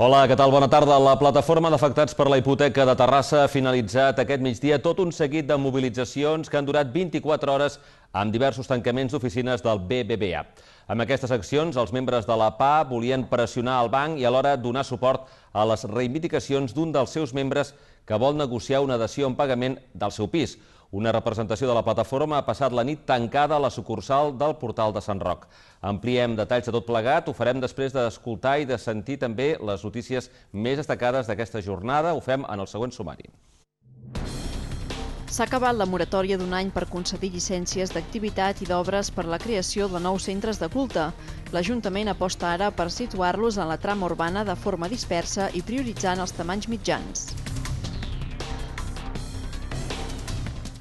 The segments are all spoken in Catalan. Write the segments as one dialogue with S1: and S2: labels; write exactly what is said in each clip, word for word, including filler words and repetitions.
S1: Hola, què tal? Bona tarda. La plataforma d'afectats per la hipoteca de Terrassa ha finalitzat aquest migdia tot un seguit de mobilitzacions que han durat vint-i-quatre hores amb diversos tancaments d'oficines del B B V A. Amb aquestes accions, els membres de la P A volien pressionar el banc i alhora donar suport a les reivindicacions d'un dels seus membres que vol negociar una dació en pagament del seu pis. Una representació de la plataforma ha passat la nit tancada a la sucursal del Portal de Sant Roc. Ampliem detalls de tot plegat, ho farem després d'escoltar i de sentir també les notícies més destacades d'aquesta jornada. Ho fem en el següent sumari.
S2: S'ha acabat la moratòria d'un any per concedir llicències d'activitat i d'obres per la creació de nous centres de culte. L'Ajuntament aposta ara per situar-los en la trama urbana de forma dispersa i prioritzant els tamanys mitjans.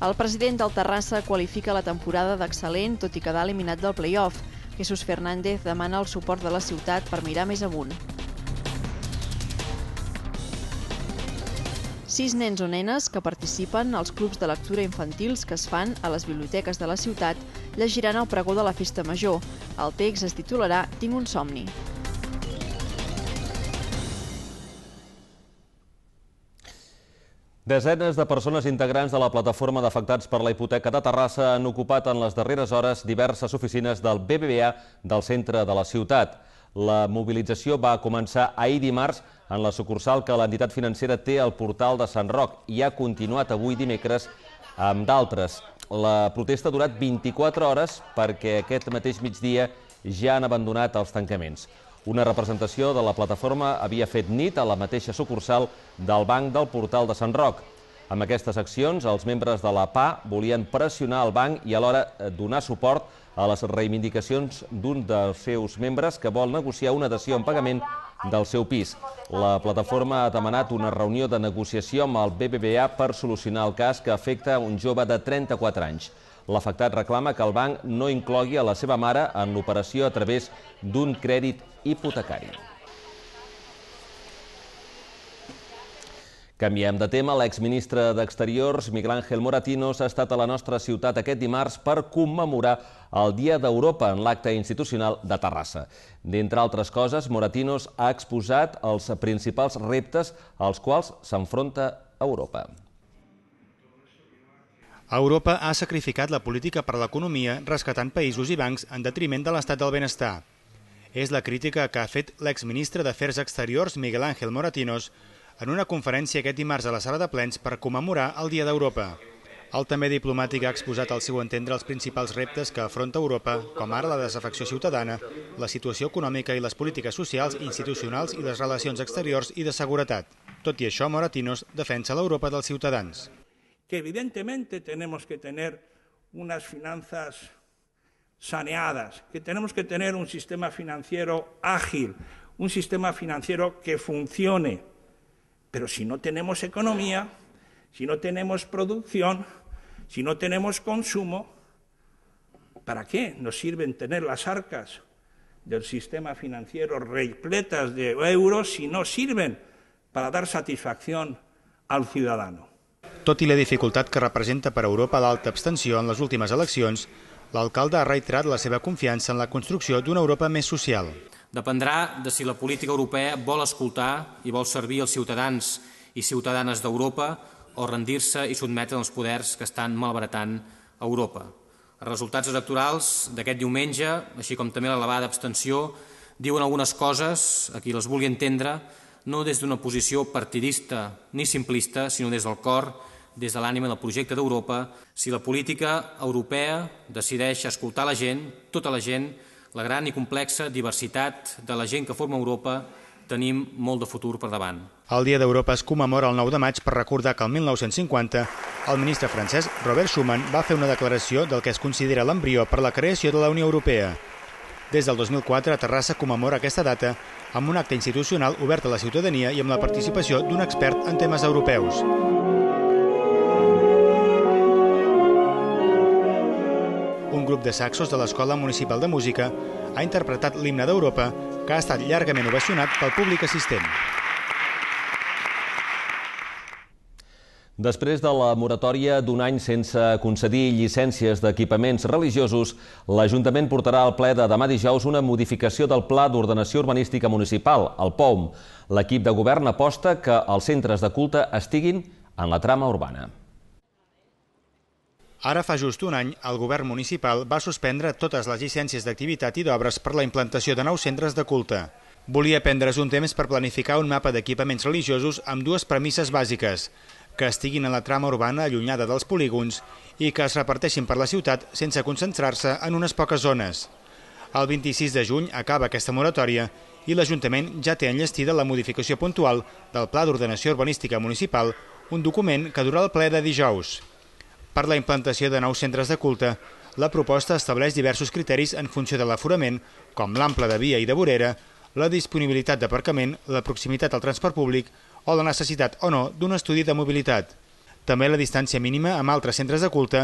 S2: El president del Terrassa qualifica la temporada d'excel·lent, tot i quedar eliminat del play-off. Jesús Fernández demana el suport de la ciutat per mirar més amunt. Sis nens o nenes que participen als clubs de lectura infantils que es fan a les biblioteques de la ciutat llegiran el pregó de la Festa Major. El text es titularà Tinc un somni.
S1: Desenes de persones integrants de la plataforma d'afectats per la hipoteca de Terrassa han ocupat en les darreres hores diverses oficines del B B V A del centre de la ciutat. La mobilització va començar ahir dimarts en la sucursal que l'entitat financera té al Portal de Sant Roc i ha continuat avui dimecres amb d'altres. La protesta ha durat vint-i-quatre hores perquè aquest mateix migdia ja han abandonat els tancaments. Una representació de la plataforma havia fet nit a la mateixa sucursal del Banc del Portal de Sant Roc. Amb aquestes accions, els membres de la P A volien pressionar el banc i alhora donar suport a les reivindicacions d'un dels seus membres que vol negociar una dació en pagament del seu pis. La plataforma ha demanat una reunió de negociació amb el B B V A per solucionar el cas que afecta un jove de trenta-quatre anys. L'afectat reclama que el banc no inclogui a la seva mare en l'operació a través d'un crèdit hipotecari. Canviem de tema. L'exministre d'Exteriors, Miguel Ángel Moratinos, ha estat a la nostra ciutat aquest dimarts per commemorar el Dia d'Europa en l'acte institucional de Terrassa. D'entre altres coses, Moratinos ha exposat els principals reptes als quals s'enfronta Europa.
S3: Europa ha sacrificat la política per l'economia rescatant països i bancs en detriment de l'estat del benestar. És la crítica que ha fet l'exministre d'Afers Exteriors, Miguel Ángel Moratinos, en una conferència aquest dimarts a la sala de plens per commemorar el Dia d'Europa. El també diplomàtic ha exposat al seu entendre els principals reptes que afronta Europa, com ara la desafecció ciutadana, la situació econòmica i les polítiques socials, institucionals i les relacions exteriors i de seguretat. Tot i això, Moratinos defensa l'Europa dels ciutadans.
S4: Que evidentemente tenemos que tener unas finanzas saneadas, que tenemos que tener un sistema financiero ágil, un sistema financiero que funcione. Pero si no tenemos economía, si no tenemos producción, si no tenemos consumo, ¿para qué nos sirven tener las arcas del sistema financiero repletas de euros si no sirven para dar satisfacción al ciudadano?
S3: Tot i la dificultat que representa per a Europa l'alta abstenció en les últimes eleccions, l'alcalde ha reiterat la seva confiança en la construcció d'una Europa més social.
S5: Dependrà de si la política europea vol escoltar i vol servir els ciutadans i ciutadanes d'Europa o rendir-se i sotmetre els poders que estan malbaratant Europa. Els resultats electorals d'aquest diumenge, així com també l'elevada abstenció, diuen algunes coses, a qui les vulgui entendre, no des d'una posició partidista ni simplista, sinó des del cor, des de l'ànima del projecte d'Europa. Si la política europea decideix escoltar la gent, tota la gent, la gran i complexa diversitat de la gent que forma Europa, tenim molt de futur per davant.
S3: El Dia d'Europa es commemora el nou de maig per recordar que el mil nou-cents cinquanta el ministre francès Robert Schuman va fer una declaració del que es considera l'embrió per la creació de la Unió Europea. Des del dos mil quatre, Terrassa commemora aquesta data amb un acte institucional obert a la ciutadania i amb la participació d'un expert en temes europeus. Un grup de saxos de l'Escola Municipal de Música ha interpretat l'himne d'Europa, que ha estat llargament ovacionat pel públic assistent.
S1: Després de la moratòria d'un any sense concedir llicències d'equipaments religiosos, l'Ajuntament portarà al ple de demà dijous una modificació del Pla d'Ordenació Urbanística Municipal, el P O M. L'equip de govern aposta que els centres de culte estiguin en la trama urbana.
S3: Ara fa just un any, el govern municipal va suspendre totes les llicències d'activitat i d'obres per la implantació de nous centres de culte. Volia prendre's un temps per planificar un mapa d'equipaments religiosos amb dues premisses bàsiques: que estiguin en la trama urbana allunyada dels polígons i que es reparteixin per la ciutat sense concentrar-se en unes poques zones. El vint-i-sis de juny acaba aquesta moratòria i l'Ajuntament ja té enllestida la modificació puntual del Pla d'Ordenació Urbanística Municipal, un document que durà el ple de dijous. Per la implantació de nous centres de culte, la proposta estableix diversos criteris en funció de l'aforament, com l'ample de via i de vorera, la disponibilitat d'aparcament, la proximitat al transport públic o la necessitat o no d'un estudi de mobilitat. També la distància mínima amb altres centres de culte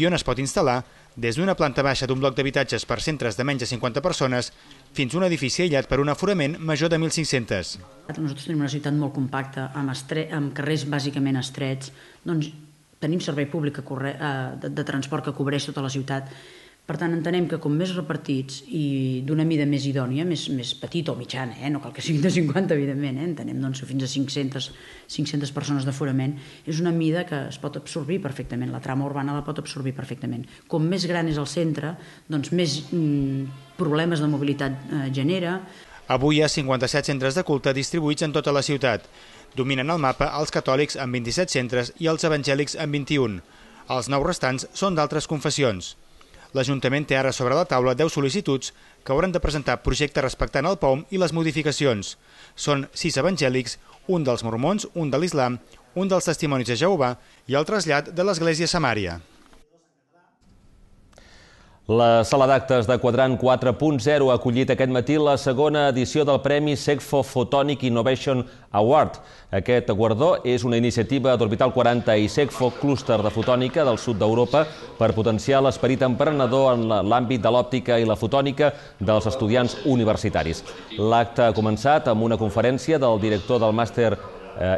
S3: i on es pot instal·lar des d'una planta baixa d'un bloc d'habitatges per centres de menys de cinquanta persones fins a un edifici aïllat per un aforament major de mil cinc-centes.
S6: Nosaltres tenim una ciutat molt compacta, amb, estre... amb carrers bàsicament estrets, doncs tenim servei públic que corre... de, de transport que cobreix tota la ciutat. Per tant, entenem que com més repartits i d'una mida més idònia, més, més petita o mitjana, eh? No cal que siguin de cinquanta, evidentment, eh? Entenem doncs, que fins a cinc-centes, cinc-centes persones d'aforament, és una mida que es pot absorbir perfectament, la trama urbana la pot absorbir perfectament. Com més gran és el centre, doncs més mm, problemes de mobilitat eh, genera.
S3: Avui hi ha cinquanta-set centres de culte distribuïts en tota la ciutat. Dominen el mapa els catòlics amb vint-i-set centres i els evangèlics amb vint-i-un. Els nou restants són d'altres confessions. L'Ajuntament té ara sobre la taula deu sol·licituds que hauran de presentar projectes respectant el P O M i les modificacions. Són sis evangèlics, un dels mormons, un de l'islam, un dels testimonis de Jehovà i el trasllat de l'Església Samària.
S1: La sala d'actes de Quadrant quatre punt zero ha acollit aquest matí la segona edició del Premi SEGFO Photonic Innovation Award. Aquest guardó és una iniciativa d'Orbital quaranta i SEGFO Clúster de Fotònica del sud d'Europa per potenciar l'esperit emprenedor en l'àmbit de l'òptica i la fotònica dels estudiants universitaris. L'acte ha començat amb una conferència del director del màster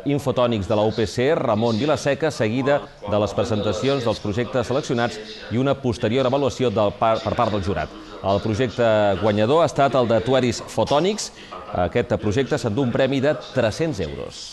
S1: Infotònics de la U P C, Ramon Vilaseca, seguida de les presentacions dels projectes seleccionats i una posterior avaluació del par, per part del jurat. El projecte guanyador ha estat el de Tueris Photonics. Aquest projecte s'endú un premi de tres-cents euros.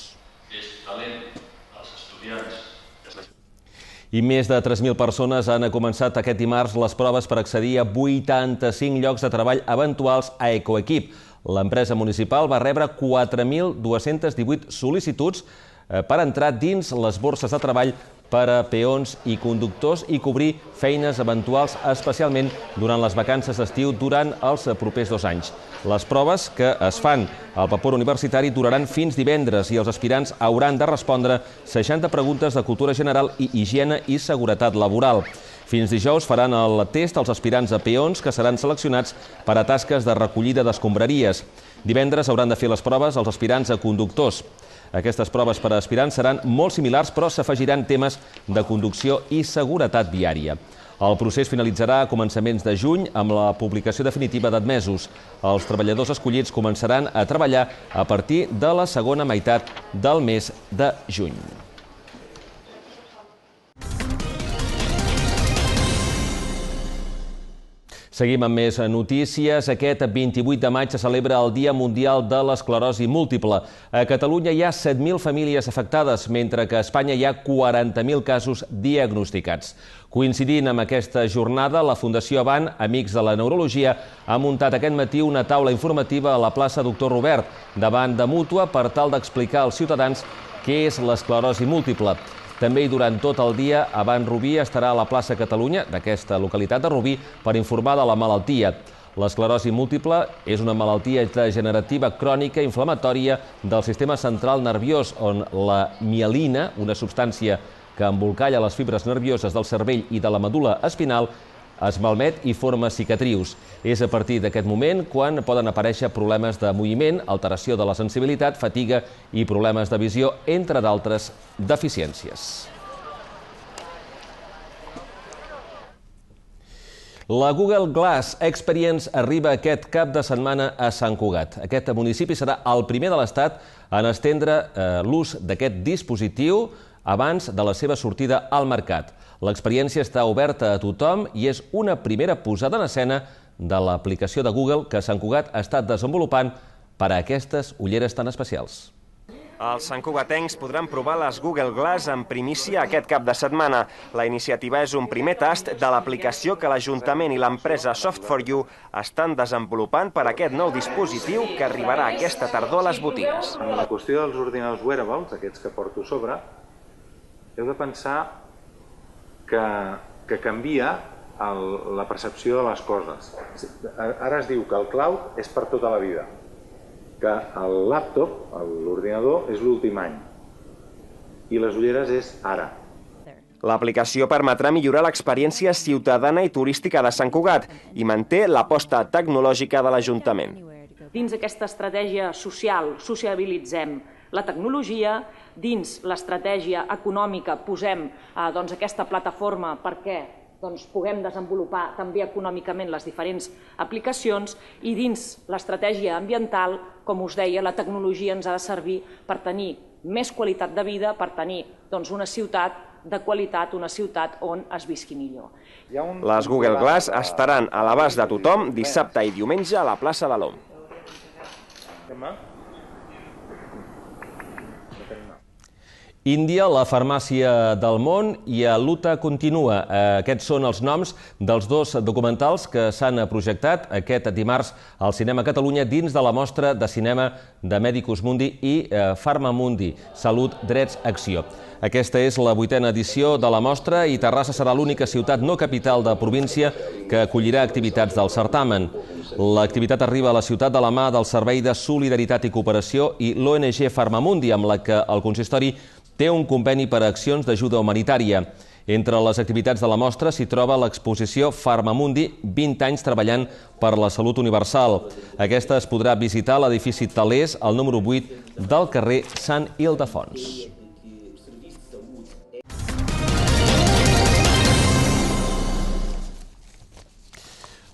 S1: I més de tres mil persones han començat aquest dimarts les proves per accedir a vuitanta-cinc llocs de treball eventuals a Ecoequip. L'empresa municipal va rebre quatre mil dues-centes divuit sol·licituds per entrar dins les borses de treball per a peons i conductors i cobrir feines eventuals, especialment durant les vacances d'estiu durant els propers dos anys. Les proves que es fan al vapor universitari duraran fins divendres i els aspirants hauran de respondre seixanta preguntes de cultura general i higiene i seguretat laboral. Fins dijous faran el test als aspirants a peons que seran seleccionats per a tasques de recollida d'escombraries. Divendres hauran de fer les proves als aspirants a conductors. Aquestes proves per a aspirants seran molt similars, però s'afegiran temes de conducció i seguretat viària. El procés finalitzarà a començaments de juny amb la publicació definitiva d'admesos. Els treballadors escollits començaran a treballar a partir de la segona meitat del mes de juny. Seguim amb més notícies. Aquest vint-i-vuit de maig se celebra el Dia Mundial de l'Esclerosi Múltiple. A Catalunya hi ha set mil famílies afectades, mentre que a Espanya hi ha quaranta mil casos diagnosticats. Coincidint amb aquesta jornada, la Fundació Avant, Amics de la Neurologia, ha muntat aquest matí una taula informativa a la plaça Doctor Robert, davant de Mútua, per tal d'explicar als ciutadans què és l'esclerosi múltiple. També i durant tot el dia, Avant Rubí estarà a la plaça Catalunya, d'aquesta localitat de Rubí, per informar de la malaltia. L'esclerosi múltiple és una malaltia degenerativa crònica inflamatòria del sistema central nerviós, on la mielina, una substància que embolcalla les fibres nervioses del cervell i de la medul·la espinal, es malmet i forma cicatrius. És a partir d'aquest moment quan poden aparèixer problemes de moviment, alteració de la sensibilitat, fatiga i problemes de visió, entre d'altres deficiències. La Google Glass Experience arriba aquest cap de setmana a Sant Cugat. Aquest municipi serà el primer de l'Estat en estendre l'ús d'aquest dispositiu abans de la seva sortida al mercat. L'experiència està oberta a tothom i és una primera posada en escena de l'aplicació de Google que Sant Cugat ha estat desenvolupant per a aquestes ulleres tan especials.
S7: Els santcugatencs podran provar les Google Glass en primícia aquest cap de setmana. La iniciativa és un primer tast de l'aplicació que l'Ajuntament i l'empresa Soft for You estan desenvolupant per a aquest nou dispositiu que arribarà aquesta tardor a les botigues.
S8: En la qüestió dels ordinadors wearables, aquests que porto a sobre, heu de pensar que, que canvia el, la percepció de les coses. Ara es diu que el cloud és per tota la vida, que el laptop, l'ordinador, és l'últim any i les ulleres és ara.
S7: L'aplicació permetrà millorar l'experiència ciutadana i turística de Sant Cugat i manté l'aposta tecnològica de l'Ajuntament.
S9: Dins aquesta estratègia social sociabilitzem la tecnologia, dins l'estratègia econòmica posem eh, doncs, aquesta plataforma perquè doncs, puguem desenvolupar també econòmicament les diferents aplicacions i dins l'estratègia ambiental, com us deia, la tecnologia ens ha de servir per tenir més qualitat de vida, per tenir doncs, una ciutat de qualitat, una ciutat on es visqui millor.
S7: Les Google Glass estaran a l'abast de tothom dissabte i diumenge a la plaça de l'Om.
S1: Índia, la farmàcia del món i a Luta continua. Aquests són els noms dels dos documentals que s'han projectat aquest dimarts al Cinema Catalunya dins de la mostra de cinema de Medicus Mundi i Farmamundi, Salut, Drets, Acció. Aquesta és la vuitena edició de la mostra i Terrassa serà l'única ciutat no capital de província que acollirà activitats del certamen. L'activitat arriba a la ciutat de la mà del Servei de Solidaritat i Cooperació i l'O N G Farmamundi, amb la que el consistori té un conveni per a accions d'ajuda humanitària. Entre les activitats de la mostra s'hi troba l'exposició Farmamundi, vint anys treballant per la salut universal. Aquesta es podrà visitar a l'edifici Talers, al número vuit del carrer Sant Ildefons.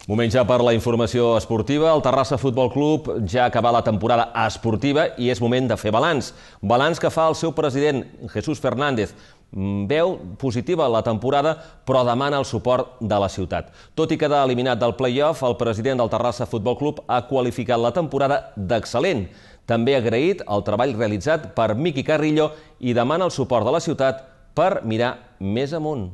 S1: Moment ja per la informació esportiva. El Terrassa Futbol Club ja ha acabat la temporada esportiva i és moment de fer balanç. Balanç que fa el seu president, Jesús Fernández. Veu positiva la temporada, però demana el suport de la ciutat. Tot i quedar eliminat del play-off, el president del Terrassa Futbol Club ha qualificat la temporada d'excel·lent. També ha agraït el treball realitzat per Miqui Carrillo i demana el suport de la ciutat per mirar més amunt.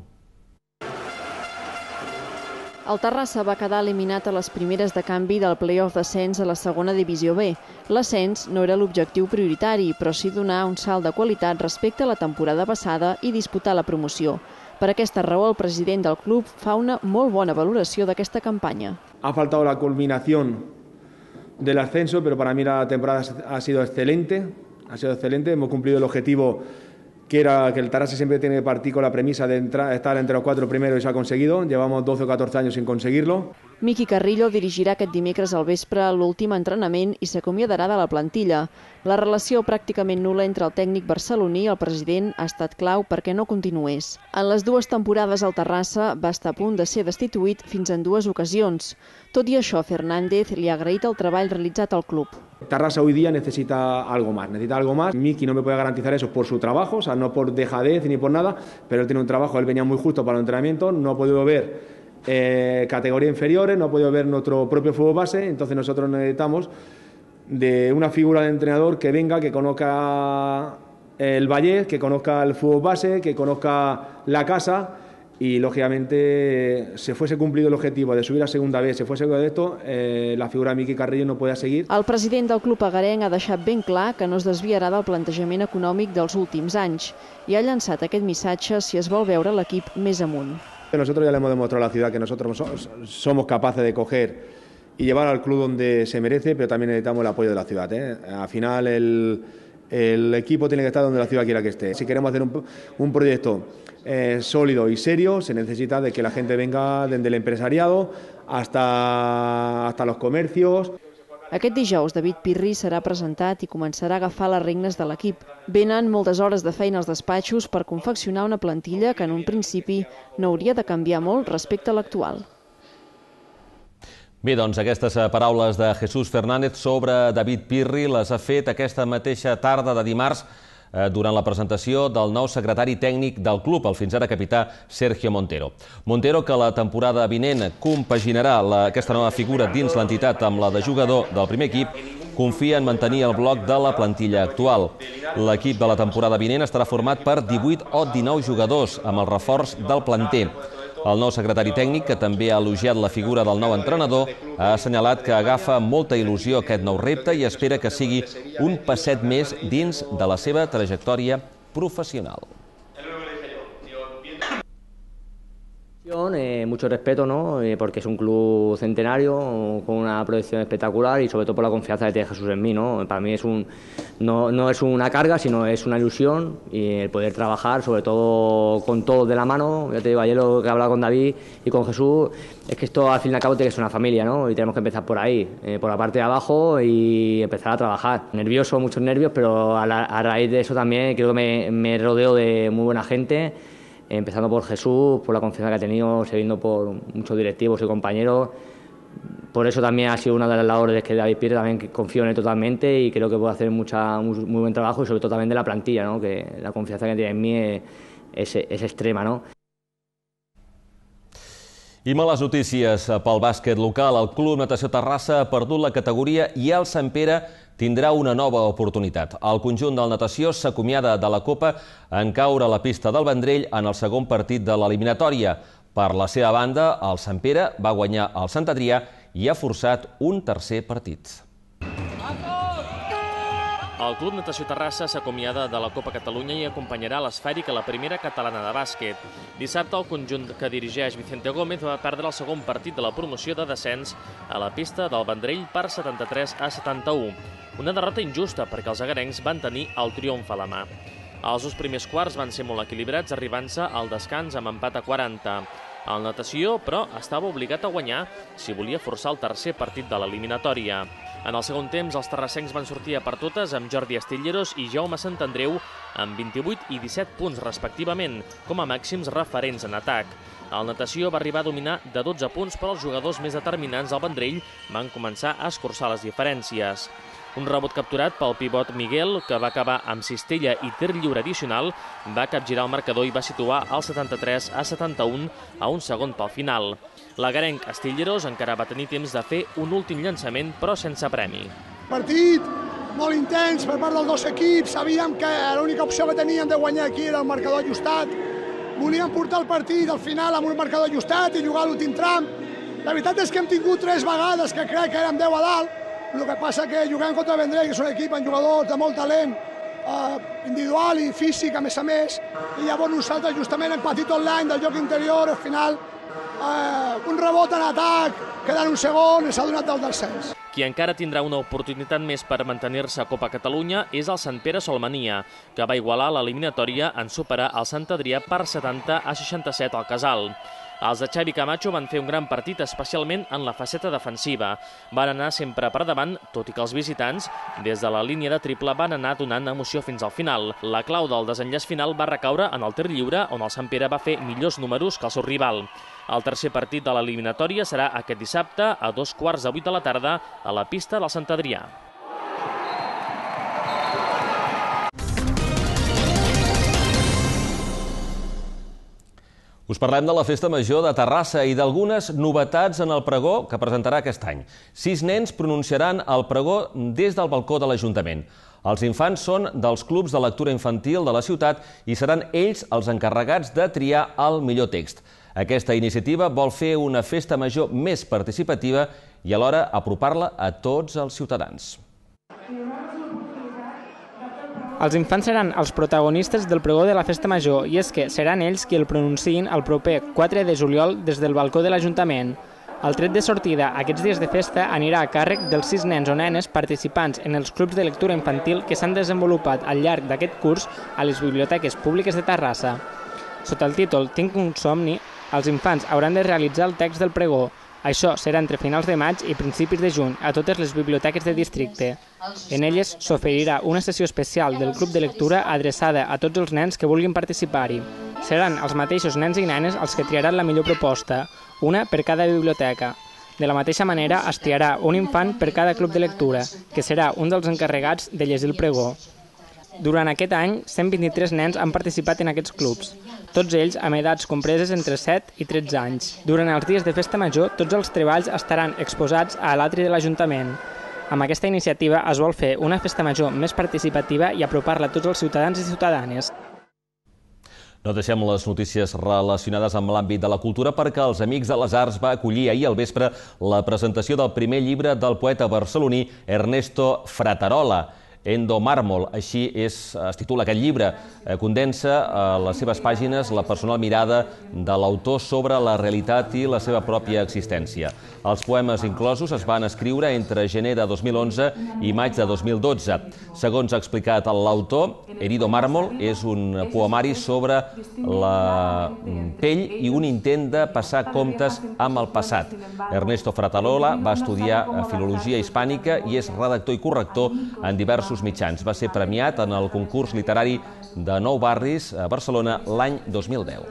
S2: El Terrassa va quedar eliminat a les primeres de canvi del play-off d'ascens a la segona divisió B. L'ascens no era l'objectiu prioritari, però sí donar un salt de qualitat respecte a la temporada passada i disputar la promoció. Per aquesta raó, el president del club fa una molt bona valoració d'aquesta campanya.
S10: Ha faltado la culminación del ascenso, pero para mí la temporada ha sido excelente. Ha sido excelente, hemos cumplido el objetivo que era que el Terrassa siempre tiene que partir con la premisa de entrar, estar entre los cuatro primeros y se ha conseguido. Llevamos doce o catorce años sin conseguirlo.
S2: Miqui Carrillo dirigirà aquest dimecres al vespre l'últim entrenament i s'acomiadarà de la plantilla. La relació pràcticament nul·la entre el tècnic barceloní i el president ha estat clau perquè no continués. En les dues temporades el Terrassa va estar a punt de ser destituït fins en dues ocasions. Tot i això, Fernández li ha agraït el treball realitzat al club.
S10: Terrassa hoy día necesita algo más, necesita algo más. Miki no me puede garantizar eso por su trabajo, o sea, no por dejadez ni por nada, pero él tiene un trabajo, él venía muy justo para el entrenamiento, no ha podido ver eh, categorías inferiores, no ha podido ver nuestro propio fútbol base, entonces nosotros necesitamos de una figura de entrenador que venga, que conozca el Vallés, que conozca el fútbol base, que conozca la casa. Y, lógicamente, si fuese cumplido el objetivo de subir a segunda B, si fuese de esto, eh, la figura de Miqui Carrillo no podía seguir.
S2: El president del club agarenc ha deixat ben clar que no es desviarà del plantejament econòmic dels últims anys i ha llançat aquest missatge si es vol veure l'equip més amunt.
S10: Nosotros ya le hemos demostrado a la ciudad que nosotros somos capaces de coger y llevar al club donde se merece, pero también necesitamos el apoyo de la ciudad, ¿eh? Al final, el, el equipo tiene que estar donde la ciudad quiera que esté. Si queremos hacer un, un proyecto Eh, sólido y serio, se necesita de que la gente venga desde el empresariado hasta, hasta los comercios.
S2: Aquest dijous, David Pirri serà presentat i començarà a agafar les regnes de l'equip. Venen moltes hores de feina als despatxos per confeccionar una plantilla que en un principi no hauria de canviar molt respecte a l'actual.
S1: Bé, doncs aquestes paraules de Jesús Fernández sobre David Pirri les ha fet aquesta mateixa tarda de dimarts durant la presentació del nou secretari tècnic del club, el fins ara capità Sergio Montero. Montero, que la temporada vinent compaginarà aquesta nova figura dins l'entitat amb la de jugador del primer equip, confia en mantenir el bloc de la plantilla actual. L'equip de la temporada vinent estarà format per divuit o dinou jugadors, amb el reforç del planter. El nou secretari tècnic, que també ha elogiat la figura del nou entrenador, ha assenyalat que agafa molta il·lusió aquest nou repte i espera que sigui un passet més dins de la seva trajectòria professional.
S11: Eh, mucho respeto, ¿no? Eh, porque es un club centenario con una proyección espectacular y sobre todo por la confianza que tiene Jesús en mí, ¿no? Para mí es un, no, no es una carga, sino es una ilusión y el poder trabajar, sobre todo con todos de la mano. Ya te digo, ayer lo que he hablado con David y con Jesús es que esto al fin y al cabo tiene que ser una familia, ¿no? Y tenemos que empezar por ahí, eh, por la parte de abajo y empezar a trabajar. Nervioso, muchos nervios, pero a, la, a raíz de eso también creo que me, me rodeo de muy buena gente. Empezando por Jesús, por la confianza que ha tenido, siguiendo por muchos directivos y compañeros. Por eso también ha sido una de las labores que David Pires, también confío en él totalmente y creo que puede hacer mucha, muy, muy buen trabajo y sobre todo también de la plantilla, ¿no? Que la confianza que tiene en mí es, es, es extrema, ¿no?
S1: I males notícies pel bàsquet local. El Club Natació Terrassa ha perdut la categoria i el Sant Pere tindrà una nova oportunitat. El conjunt del Natació s'acomiada de la Copa en caure a la pista del Vendrell en el segon partit de l'eliminatòria. Per la seva banda, el Sant Pere va guanyar el Sant Adrià i ha forçat un tercer partit.
S12: El Club Natació Terrassa s'acomiada de la Copa Catalunya i acompanyarà l'Esfèric a la primera catalana de bàsquet. Dissabte, el conjunt que dirigeix Vicente Gómez va perdre el segon partit de la promoció de descens a la pista del Vendrell per setanta-tres a setanta-u. Una derrota injusta perquè els agarencs van tenir el triomf a la mà. Els dos primers quarts van ser molt equilibrats, arribant-se al descans amb empat a quaranta. El Natació, però, estava obligat a guanyar si volia forçar el tercer partit de l'eliminatòria. En el segon temps, els terrassencs van sortir a per totes amb Jordi Astilleros i Jaume Santandreu amb vint-i-vuit i disset punts respectivament, com a màxims referents en atac. El Natació va arribar a dominar de dotze punts, però els jugadors més determinants del Vendrell van començar a escurçar les diferències. Un rebot capturat pel pivot Miguel, que va acabar amb cistella i tir lliure addicional, va capgirar el marcador i va situar el setanta-tres a setanta-un a un segon pel final. L'agarenc Astilleros encara va tenir temps de fer un últim llançament, però sense premi.
S13: Partit molt intens per part dels dos equips. Sabíem que l'única opció que teníem de guanyar aquí era el marcador ajustat. Volíem portar el partit al final amb un marcador ajustat i jugar l'últim tram. La veritat és que hem tingut tres vegades que crec que érem deu a dalt. El que passa que juguem contra el Vendrell, que és un equip amb jugadors de molt talent, eh, individual i físic, a més a més, i llavors nosaltres justament hem patit online del joc interior, al final eh, un rebot en atac, quedant un segon i s'ha donat del descens.
S12: Qui encara tindrà una oportunitat més per mantenir-se a Copa Catalunya és el Sant Pere Solmania, que va igualar l'eliminatòria en superar el Sant Adrià per setanta a seixanta-set al Casal. Els de Xavi Camacho van fer un gran partit, especialment en la faceta defensiva. Van anar sempre per davant, tot i que els visitants, des de la línia de triple, van anar donant emoció fins al final. La clau del desenllaç final va recaure en el tir lliure, on el Sant Pere va fer millors números que el seu rival. El tercer partit de l'eliminatòria serà aquest dissabte a dos quarts de vuit de la tarda a la pista del Sant Adrià.
S1: Us parlem de la Festa Major de Terrassa i d'algunes novetats en el pregó que presentarà aquest any. Sis nens pronunciaran el pregó des del balcó de l'Ajuntament. Els infants són dels clubs de lectura infantil de la ciutat i seran ells els encarregats de triar el millor text. Aquesta iniciativa vol fer una festa major més participativa i alhora apropar-la a tots els ciutadans.
S14: Els infants seran els protagonistes del pregó de la Festa Major i és que seran ells qui el pronunciïn el proper quatre de juliol des del balcó de l'Ajuntament. El tret de sortida aquests dies de festa anirà a càrrec dels sis nens o nenes participants en els clubs de lectura infantil que s'han desenvolupat al llarg d'aquest curs a les biblioteques públiques de Terrassa. Sota el títol Tinc un somni, els infants hauran de realitzar el text del pregó. Això serà entre finals de maig i principis de juny a totes les biblioteques de districte. En elles s'oferirà una sessió especial del club de lectura adreçada a tots els nens que vulguin participar-hi. Seran els mateixos nens i nenes els que triaran la millor proposta, una per cada biblioteca. De la mateixa manera es triarà un infant per cada club de lectura, que serà un dels encarregats de llegir el pregó. Durant aquest any, cent vint-i-tres nens han participat en aquests clubs, tots ells amb edats compreses entre set i tretze anys. Durant els dies de festa major, tots els treballs estaran exposats a l'atri de l'Ajuntament. Amb aquesta iniciativa es vol fer una festa major més participativa i apropar-la a tots els ciutadans i ciutadanes.
S1: No deixem les notícies relacionades amb l'àmbit de la cultura perquè els Amics de les Arts va acollir ahir al vespre la presentació del primer llibre del poeta barceloní Ernesto Fratarola, Endomàrmol, així es titula aquest llibre. Condensa a les seves pàgines la personal mirada de l'autor sobre la realitat i la seva pròpia existència. Els poemes inclosos es van escriure entre gener de dos mil onze i maig de dos mil dotze. Segons ha explicat l'autor, Herido Mármol és un poemari sobre la pell i un intent de passar comptes amb el passat. Ernesto Fratarola va estudiar filologia hispànica i és redactor i corrector en diversos mitjans. Va ser premiat en el concurs literari de Nou Barris a Barcelona l'any dos mil deu.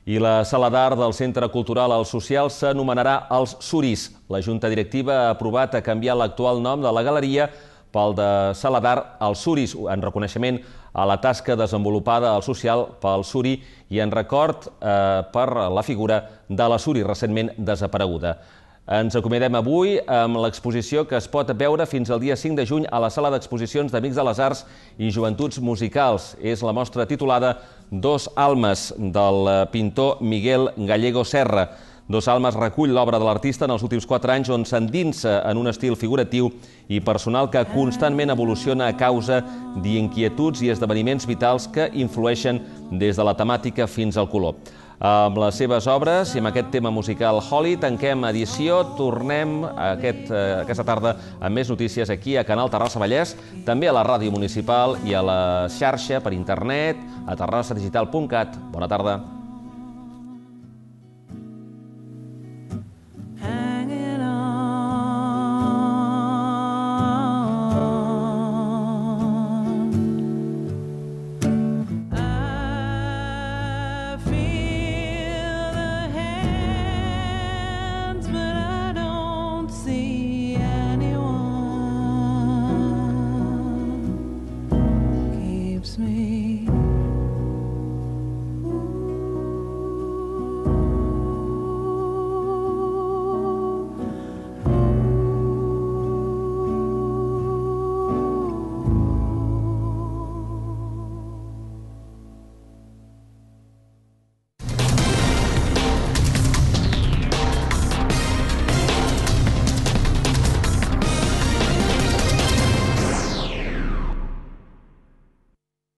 S1: I la sala d'art del Centre Cultural El Social s'anomenarà Els Suris. La Junta Directiva ha aprovat a canviar l'actual nom de la galeria pel de Sala d'Art Els Suris, en reconeixement a la tasca desenvolupada al social pel Suri i en record eh, per la figura de la Suri, recentment desapareguda. Ens acomiadem avui amb l'exposició que es pot veure fins al dia cinc de juny a la sala d'exposicions d'Amics de les Arts i Joventuts Musicals. És la mostra titulada Dos Almes, del pintor Miguel Gallego Serra. Dos Almes recull l'obra de l'artista en els últims quatre anys on s'endinsa en un estil figuratiu i personal que constantment evoluciona a causa d'inquietuds i esdeveniments vitals que influeixen des de la temàtica fins al color. Amb les seves obres i amb aquest tema musical Holly tanquem edició. Tornem aquest, aquesta tarda amb més notícies aquí a Canal Terrassa Vallès, també a la ràdio municipal i a la xarxa per internet a terrassa digital punt cat. Bona tarda.